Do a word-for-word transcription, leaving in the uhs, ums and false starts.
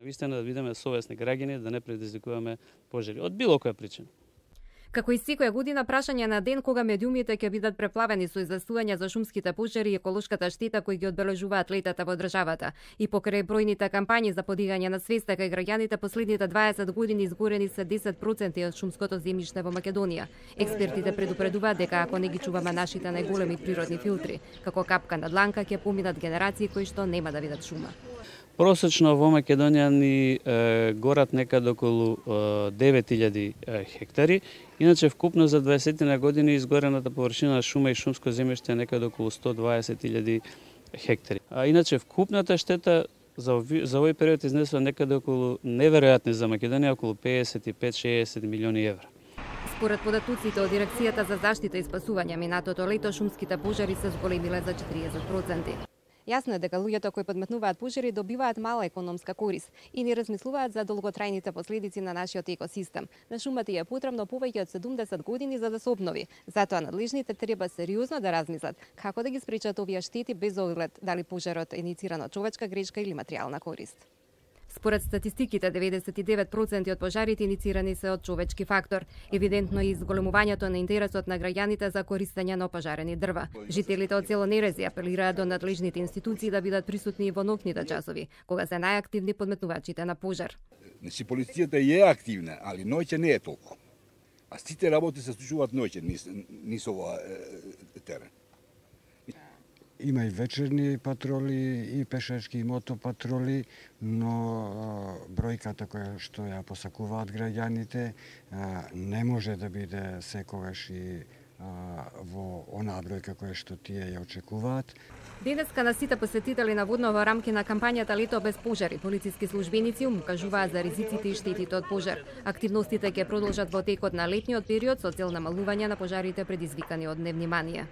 Вистина да бидеме совесни граѓани, да не предизвикуваме пожари од било која причина. Како и секоја година, прашање на ден кога медиумите ќе бидат преплавени со известувања за шумските пожари и еколошката штета кои ги одбележуваат летата во државата. И покрај бројните кампањи за подигање на свеста кај граѓаните, последните дваесет години изгорени се десет проценти од шумското земјиште во Македонија. Експертите предупредуваат дека ако не ги чуваме нашите најголеми природни филтри, како капка на дланка ќе поминат генерации кои што нема да видат шума. Просечно во Македонија ни е, горат некаде околу девет илјади хектари. Иначе вкупно за дваесет години изгорената површина на шума и шумско земјиште е некаде околу сто дваесет илјади хектари. А иначе вкупната штета за овој, за овој период изнесува некаде околу неверојатни за Македонија околу педесет и пет до шеесет милиони евра. Според податоците од Дирекцијата за заштита и спасување, минатото лето шумските пожари се зголемиле за четириесет проценти. Јасно е дека луѓето кои подметнуваат пожари добиваат мала економска корис и не размислуваат за долготрајните последици на нашиот екосистем. На шумата е потребно повеќе од седумдесет години за да се обнови. Затоа надлежните треба сериозно да размислат како да ги спречат овие штети без оглед дали пожарот е инициран од човечка грешка или материјална корист. Според статистиките, деветдесет и девет проценти од пожарите иницирани се од човечки фактор. Евидентно е изголемувањето на интересот на граѓаните за користење на опожарени дрва. Жителите од село Нерези апелираат до надлежните институции да бидат присутни во ноќните часови, кога се најактивни подметнувачите на пожар. Значи полицијата е активна, али ноќе не е толку. А сите работи се случуваат ноќе низ, низ ова терен. Има и вечерни патроли, и пешачки, и мотопатроли, но бројката која што ја посакуваат граѓаните не може да биде секогаш и во онаа бројка која што тие ја очекуваат. Денеска на сите посетители на водно во рамки на кампањата Лето без пожари, полициски службеници им кажуваат за ризиците и штетите од пожар. Активностите ќе продолжат во текот на летниот период со цел намалување на пожарите предизвикани од невнимание.